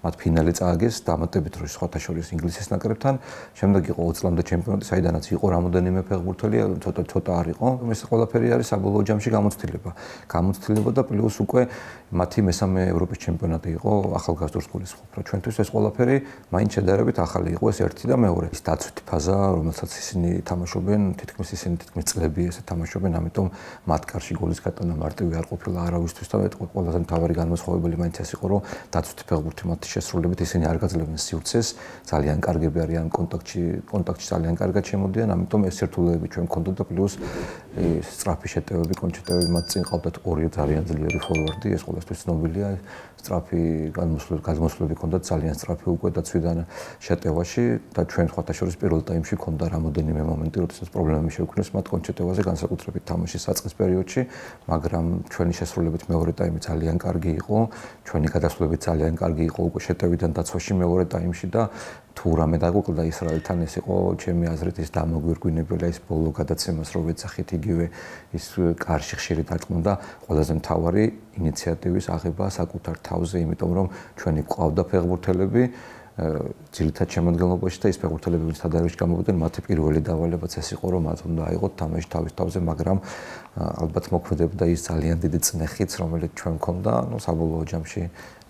მათ ფინალი წააგეს დამატებით დროს სხვათა შორის ინგლისის ნაკრებთან. შემდეგ იყო 20 წლამდე ჩემპიონატი, საიდანაც იყო რამოდენიმე ფეხბურთელი, ცოტა არ იყო. ეს ყველაფერი არის საბოლოო ჯამში გამოცდილება. გამოცდილება და პლუს უკვე მათი მესამე ევროპის ჩემპიონატი იყო ახალგაზრდობის გულისხმობ. ჩვენთვის ეს ყველაფერი მაინც შედარებით ახალი იყო, ეს ერთი და მეორე. ის დაცვითი ფაზა, რომელსაც ისინი თამაშობენ, თითქმის წლები ესე თამაშობენ, ამიტომ მათ კარში გოლის გატანა მარტივი არ ყოფილა არავისთვის და ყველაზე მთავარი განმასხვავებელი მაინც ეს იყო, რომ დაცვითი ფეხბურთი მათი შესრულებით ისინი არ გაძლევენ სივრცეს, ძალიან კარგები არიან კონტაქტში ძალიან კარგად შემოდიან, ამიტომ ეს სირთულეები ჩვენ გქონდა და პლუს სწრაფი შეტევები, კონჩეტევები მათ წინ ყავდათ ორი ძალიან ძლიერი ფორვარდი, ეს ყველასთვის ცნობილია, სწრაფი გადმოსვლები ჰქონდათ ძალიან სწრაფი უკვე დაცვიდან შეტევაში და ჩვენ სხვათა შორის პირველ ტაიმში ჰქონდა რამოდენიმე მომენტი, როდესაც პრობლემები შეუქმნეს მათ კონჩეტევაზე განსაკუთრებით თამაშის საწყის პერიოდში, მაგრამ ჩვენი შესრულებით მეორე ტაიმი ძალიან კარგი იყო, ჩვენი გადასვლები ძალიან კარგი იყო უკვე შეტევიდან დაცვაში მეორე ტაიმში და თუ რამე დაგვიკლდა ისრაელთან ეს იყო ჩემი აზრით ის დამოგვირგვინებელი ის ბოლო გადაცემას რო ვეცახით იგივე ის კარში ხშირი დაჭმუნდა ყველაზე მთავარი ინიციატივის აღება საკუთარ თავზე იმიტომ რომ ჩვენი ყავდა ფეხბურთელები ძირითად შემადგენლობაში და ის ფეხბურთელები ვინც თადარიგში გამოვიდნენ მათი პირველი დავალებაც ეს იყო რომ მათ უნდა აიღოთ თამაში თავის თავზე მაგრამ ალბათ მოქმედებდა ის ძალიან დიდი წნეხიც რომელიც ჩვენ მქონდა ნუ საბოლოო ჯამში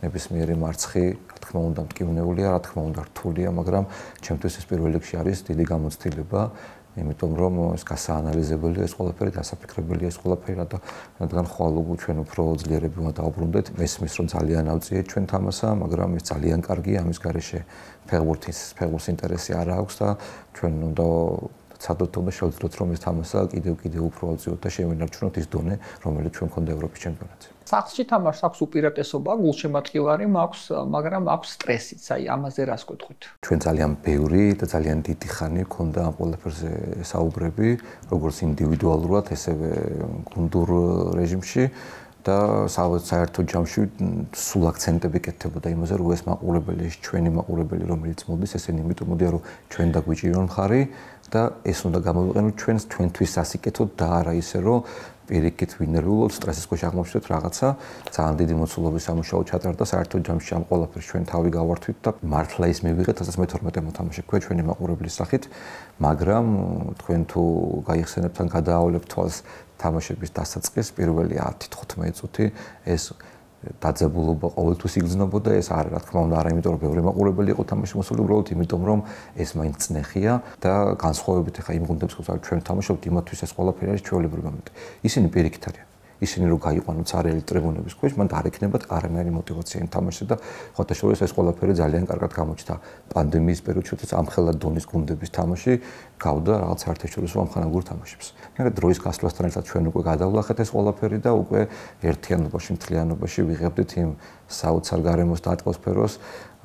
ნებისმიერი მარცხი რა თქმა უნდა მტკივნეულია რა თქმა უნდა რთულია მაგრამ ჩემთვის ეს პირველ რიგში არის დიდი გამოცდილება იმიტომ რომ ეს გასაანალიზებელია ეს ყველაფერი დასაფიქრებელია ეს ყველაფერი რადგან ხვალ ჩვენ უფრო ძლიერები უნდა დავბრუნდეთ მესმის რომ ძალიან ავწიეთ ჩვენ თამასა მაგრამ ეს ძალიან კარგია ამის გარეშე ფეხბურთის ინტერესი არ აქვს და ჩვენ უნდა ცადოთ უნდა შევძლოთ რომ ეს თამასა კიდევ უფრო ავწიოთ და შევინარჩუნოთ ის დონე რომელიც ჩვენ გქონდა ევროპის ჩემპიონატზე სახლში თამაშს აქვს უპირატესობა, გულშემატკივარი მაქვს, მაგრამ აქვს სტრესიც. აი, ამაზე რას გეტყვით? ჩვენ ძალიან ბევრი და ძალიან დიდი ხანი გქონდა ამ ყველაფერზე საუბრები, როგორც ინდივიდუალურად, ესევე გუნდურ რეჟიმში და საერთო ჯამში სულ აქცენტები კეთდებოდა იმაზე, რომ ეს მაყურებელი, ეს ჩვენი მაყურებელი, რომელიც მოდის, ესენი იმიტომ მოდიან, რომ ჩვენ დაგვიჭირონ მხარი და ეს უნდა გამოვიყენოთ ჩვენთვის სასიკეთოდ და არა ისე, რომ პირიქით ვინერვულობ სტრესის ქვეშ აღმოჩნდეთ რაღაცა ძალიან დიდი მოცულობის სამუშაო ჩატარდა საერთო ჯამში ამ ყველაფერს ჩვენ თავი გავართვით და მართლა ის მივიღეთ 2012 მოთამაშე ქვე ჩვენი მაყურებლის სახით მაგრამ თქვენ თუ გაიხსენებთ ან გადაავლებთ თვალს თამაშების დასაწყის პირველი 10-15 წუთი ეს დაძაბულობა ყოველთვის იგრძნობოდა ეს არ რა თქმა უნდა არა იმიტომ რომ ბევრი მაყურებელი იყო თამაში მოსული უბრალოდ იმიტომ რომ ეს მაინც წნეხია და განსხვავებით ახლა იმ გუნდებს ხუთ ჩვენ თამაშობთ იმათთვის ეს ყველაფერი არის ჩვეულებრივი მომენტი ისინი პირიქით არიან ისინი რო გაიყვანოთ царელი ტრიბუნების ქვეშ მან არ ექნებათ არანაირი мотиваცია იმ თამაშზე და ხოთაშორის ეს ყველაფერი ძალიან კარგად გამოჩნდა პანდემიის პერიოდში როდესაც ამხელა დონის გუნდების თამაში გავდა რაღაც საერთაშორისო ამხანაგურ თამაშებს. მაგრამ დროის გასვლასთან ერთად ჩვენ უკვე გადავლახეთ ეს ყველაფერი და უკვე ერთიანობაში, მთლიანობაში ვიღებდით იმ საოცარ გარემოს და ატმოსფეროს,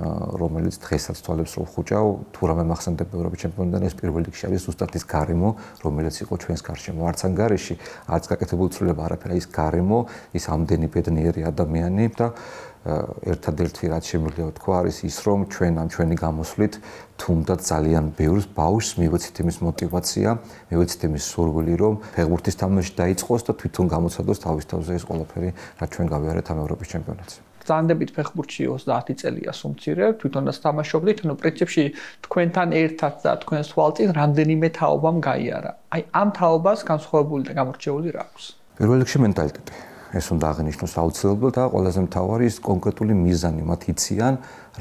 რომელიც დღესაც თვალებს რო ხუჭავ, თუ რამე მახსენდება ევროპის ჩემპიონატიდან ეს პირველ რიგში არის ზუსტად ის გარემო, რომელიც იყო ჩვენს გარშემო. არც ან გარეში, არც გაკეთებული ცვლილება არაფერი, ის გარემო, ის ამდენი ბედნიერი ადამიანი და ერთადერთი რაც შემიძლია თქვა არის ის, რომ ჩვენ ამ ჩვენი გამოსვლით თუნდაც ძალიან ბევრს ბავშვს მივეცით იმის мотиваცია, მივეცით იმის სურვილი, რომ ფეხბურთის თამაში დაიწყოს და თვითონ გამოცადოს თავის თავზე ეს ყველაფერი, რაც ჩვენ გავიარეთ ამ ევროპის ჩემპიონატზე. ბრძანდებით ფეხბურთში 30 წელია სუმცირე, თვითონაც თამაშობდით, ну, პრინციპში თქვენთან ერთად და თქვენს თვალწინ რამდენიმე თაობამ გაიარა. აი, ამ თაობას განსხვავებული და გამორჩეული რა აქვს? პირველ რიგში მენტალიტეტი. ეს უნდა აღინიშნოს აუცილებლად და ყველაზე მთავარი ის კონკრეტული მიზანი, მათ იციან,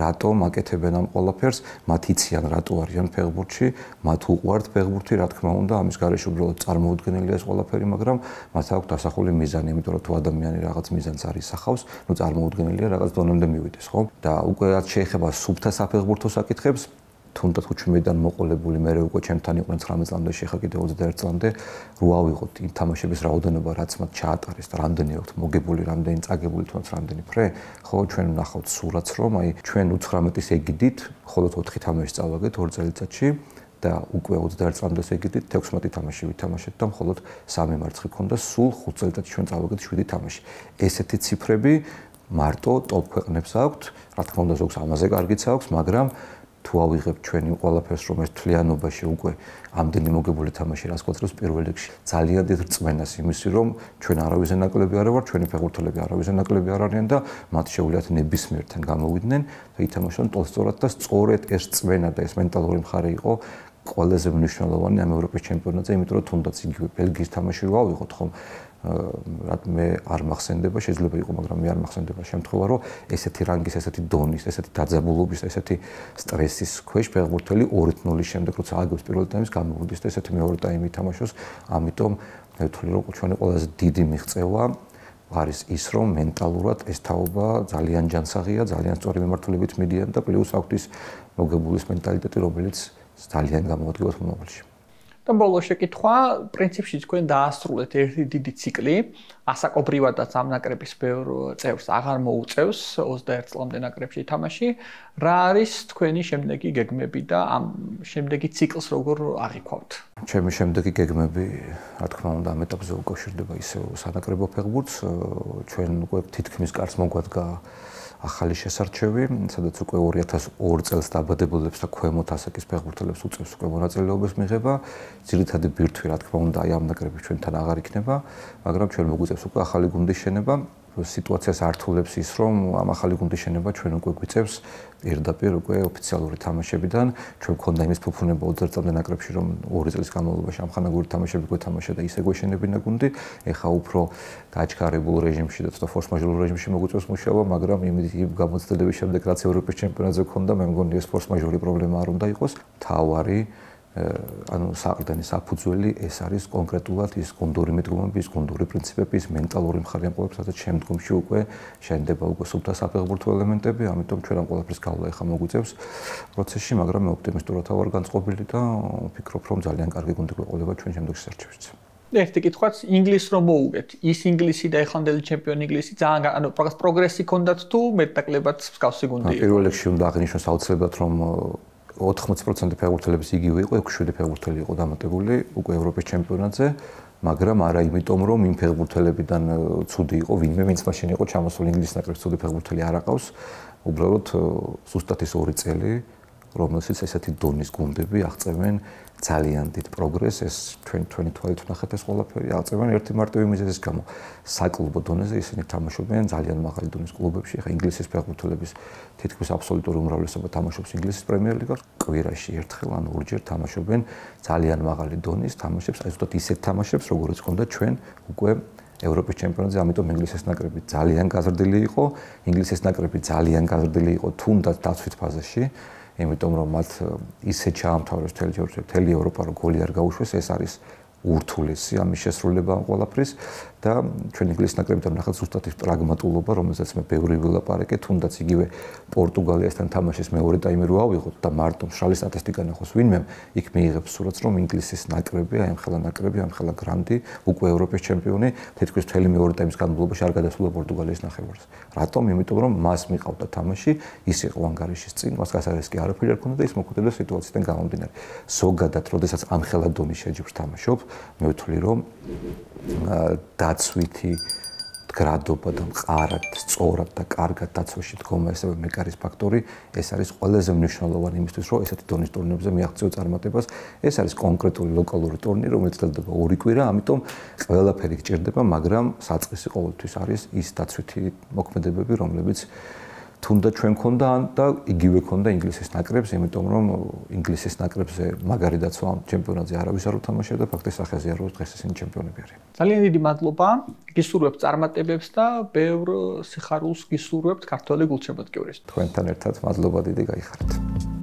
რატომ აკეთებენ ამ ყველაფერს, მათ იციან, რატო არიან ფეხბურთში, მათ უყვართ ფეხბურთი, რა თქმა უნდა, ამის გარეშე უბრალოდ წარმოუდგენელია ეს ყველაფერი, მაგრამ მათ აქვს დასახული მიზანი, იმიტომ რომ თუ ადამიანი რაღაც მიზანს არ ისახავს, ну წარმოუდგენელია რაღაც დონემდე მივიდეს, ხო? და უკვე რაც შეეხება სუფთა საფეხბურთო საკითხებს, თუნდაც უჩვენებიდან მოყოლებული მე უკვე ჩემთან იყვნენ 19 წლამდე, შეხა კიდე 21 წლამდე, რო ავიღოთ იმ თამაშების რაოდენობა, რაც მათ ჩაატარეს და რამდენი აქვთ მოგებული, რამდენი წაგებული თუნდაც რამდენი ფრე, ხო, ჩვენ ვნახავთ სურათს, რომ აი ჩვენ 19-ის ეგიდით, მხოლოდ 4 თამაში წავაგეთ 2 წელიწადში და უკვე 21 წლამდე ეგიდით 16 თამაში ვითამაშეთ და მხოლოდ 3 მარცხი ქონდა, სულ 5 წელიწადში ჩვენ წავაგეთ 7 თამაში. ესეთი ციფრები მარტო ტოპ ქვეყნებს აქვთ, რა თქმა უნდა ზოგს ამაზე კარგიც აქვს, მაგრამ თუ ავიღებთ ჩვენ იმ ყველაფერს, რომ ეს თლიანობაში უკვე ამდენი მოგებული თამაში რას კვეთრებს პირველ რიგში ძალიან დიდ რწმენას იმისი, რომ ჩვენ არავის ნაკლები არ ვართ, ჩვენი ფეხბურთელები არავის ნაკლები არ არიან და მათ შეუძლიათ ნებისმიერთან გამოვიდნენ და ითამაშონ ტოლსტორად და სწორედ ეს რწმენა და ეს მენტალური მხარე იყო ყველაზე მნიშვნელოვანი ამ ევროპის ჩემპიონატზე, იმიტომ რომ თუნდაც იგივე ბელგიის თამაში რო ავიღოთ, ხომ მე არ მახსენდება, შეიძლება იყო, მაგრამ მე არ მახსენდება შემთხვევა, რომ ესეთი რანგის, ესეთი დონის, ესეთი დაძაბულობის, ესეთი სტრესის ქვეშ ფეხბურთელი 2-0-ის შემდეგ როცა აგებს პირველ ტაიმს გამოვიდეს და ესეთი მეორე ტაიმი ითამაშოს, ამიტომ მე ვთვლი, რომ ჩვენი ყველაზე დიდი მიღწევა არის ის, რომ მენტალურად ეს თაობა ძალიან ჯანსაღია, ძალიან სწორი მიმართულებით მიდიან და პლუს აქვთ ის მოგებულის მენტალიტეტი, რომელიც ძალიან გამოადგება მომავალში. და ბოლოს შეკითხვა, პრინციპში თქვენ დაასრულეთ ერთი დიდი ციკლი, ასაკობრივადაც ამ ნაკრების ბევრ წევრს აღარ მოუწევს 21 წლამდე ნაკრებში თამაში. რა არის თქვენი შემდეგი გეგმები და ამ შემდეგი ციკლს როგორ აღიქვავთ? ჩემი შემდეგი გეგმები, რა თქმა უნდა, ამ ეტაპზე უკავშირდება ისევ სანაკრებო ფეხბურთს, ჩვენ უკვე თითქმის კარს მოგვადგა ახალი შესარჩევი, სადაც უკვე 2002 წელს დაბადებულებს და ქვემოთ ასაკის ფეხბურთელებს უწევს უკვე მონაწილეობის მიღება. ძირითადი ბირთვი, რა თქმა უნდა, აი ამ ნაკრების ჩვენთან აღარ იქნება, მაგრამ ჩვენ მოგვიწევს უკვე ახალი გუნდის შენება. სიტუაციას ართულებს ის, რომ ამ ახალი გუნდის შენება ჩვენ უკვე გვიწევს პირდაპირ უკვე ოფიციალური თამაშებიდან. ჩვენ გქონდა იმის ფუფუნება 20 წლამდე ნაკრებში, რომ 2 წლის განმავლობაში ამხანაგური თამაშები გვეთამაშა და ისე გვეშენებინა გუნდი. ეხა უფრო გაჩქარებულ რეჟიმში და ფორს-მაჟორულ რეჟიმში მოგვიწევს მუშაობა, მაგრამ იმ გამოცდილების შემდეგ, რაც ევროპის ჩემპიონატზე გქონდა, მე მგონი ეს ფორს-მაჟორი პრობლემა არ უნდა იყოს. თავარი ანუ საყრდენი საფუძველი ეს არის კონკრეტულად ის გუნდური მიდგომები, ის გუნდური პრინციპები, ის მენტალური მხარე ამ ყველაფერს, სადაც შემდგომში უკვე შენდება უკვე სუფთა საფეხბურთო ელემენტები, ამიტომ ჩვენ ამ ყველაფერს გავლა ეხა მოგვიწევს პროცესში, მაგრამ მე ოპტიმისტურად ვარ განწყობილი და ვფიქრობ, რომ ძალიან კარგი გუნდი გვეყოლება ჩვენ შემდგომ შესარჩევშიც. ერთი კითხვაც, ინგლისს რომ მოუგეთ, ის ინგლისი და ეხანდელი ჩემპიონი ინგლისი ძალიან ანუ პროგრესი ქონდათ თუ მეტნაკლებად მსგავსი გუნდი იყო? პირველ რიგში უნდა აღინიშნოს აუცილებლად, რომ 80% ფეხბურთელების იგივე იყო, 6-7 ფეხბურთელი იყო დამატებული უკვე ევროპის ჩემპიონატზე, მაგრამ არა იმიტომ, რომ იმ ფეხბურთელებიდან ცუდი იყო, ვინმე ვინც მაშინ იყო ჩამოსული ინგლისის ნაკრებს ცუდი ფეხბურთელი არ აყავს, უბრალოდ ზუსტად ის 2 წელი, რომელშიც ესეთი დონის გუნდები აღწევენ ძალიან დიდ პროგრესს, ეს ჩვენი თვალით ვნახეთ ეს ყველაფერი, აღწევენ ერთი მარტივი მიზეზის გამო. საკლუბო დონეზე ისინი თამაშობენ ძალიან მაღალი დონის კლუბებში, ახლა ინგლისის ფეხბურთელების თითქმის აბსოლუტური უმრავლესობა თამაშობს ინგლისის პრემიერ-ლიგას, კვირაში ერთხელ ან ორჯერ თამაშობენ ძალიან მაღალი დონის თამაშებს, აი ზუსტად ისეთ თამაშებს, როგორც ჰქონდა ჩვენ უკვე ევროპის ჩემპიონატზე, ამიტომ ინგლისის ნაკრები ძალიან გაზრდილი იყო, ინგლისის ნაკრები ძალიან გაზრდილი იყო თუნდაც დაცვით ფაზაში. იმიტომ რომ მათ ისე ჩაამთავრეს მთელი ევროპა რომ გოლი არ გაუშვეს, ეს არის ურთულესი ამის შესრულება ამ ყველაფრის და ჩვენ ინგლისის ნაკრებიდან ვნახეთ ზუსტად ის პრაგმატულობა, რომელსაც მე ბევრი ვილაპარაკე, თუნდაც იგივე პორტუგალიასთან თამაშის მეორე ტაიმი რო ავიღოთ და მარტო მშრალი სტატისტიკა ნახოს ვინმე, იქ მიიღებს სურათს, რომ ინგლისის ნაკრები, აი ამ ხელა ნაკრები, ამ ხელა გრანდი, უკვე ევროპის ჩემპიონი, თითქმის მთელი მეორე ტაიმის განმავლობაში არ გადასულა პორტუგალიის ნახევარს. რატომ? იმიტომ რომ მას მიყავდა თამაში, ის იყო ანგარიშის წინ, მას გასარეს კი არაფერი არ ქონდა და ის მოხვდებოდა სიტუაციიდან გამომდინარე. ზოგადად, როდესაც ამ ხელა დონის შეჯიბრს თამაშობ, მე ვთვლი, რომ დაცვითი მდგრადობა და მყარად, სწორად და კარგად დაცვაში დგომა ესევე მეკარის ფაქტორი, ეს არის ყველაზე მნიშვნელოვანი იმისთვის, რომ ესეთი დონის ტურნირებზე მიაღწიო წარმატებას. ეს არის კონკრეტული ლოკალური ტურნირი, რომელიც ძლდება 2 კვირა, ამიტომ ყველაფერი გჭირდება, მაგრამ საწყისი ყოველთვის არის ის დაცვითი მოქმედებები, რომლებიც თუნდაც ჩვენ ქონდა და იგივე ქონდა ინგლისის ნაკრებს, იმიტომ რომ ინგლისის ნაკრებზე მაგარი დაცვა ამ ჩემპიონატზე არავის არ უთამაშია და ფაქტის სახეზეა რომ დღეს ისინი ჩემპიონები არიან. ძალიან დიდი მადლობა. გისურვებთ წარმატებებს და ბევრ სიხარულს გისურვებთ ქართველი გულშემატკივრისთვის. თქვენთან ერთად მადლობა დიდი გაიხარეთ.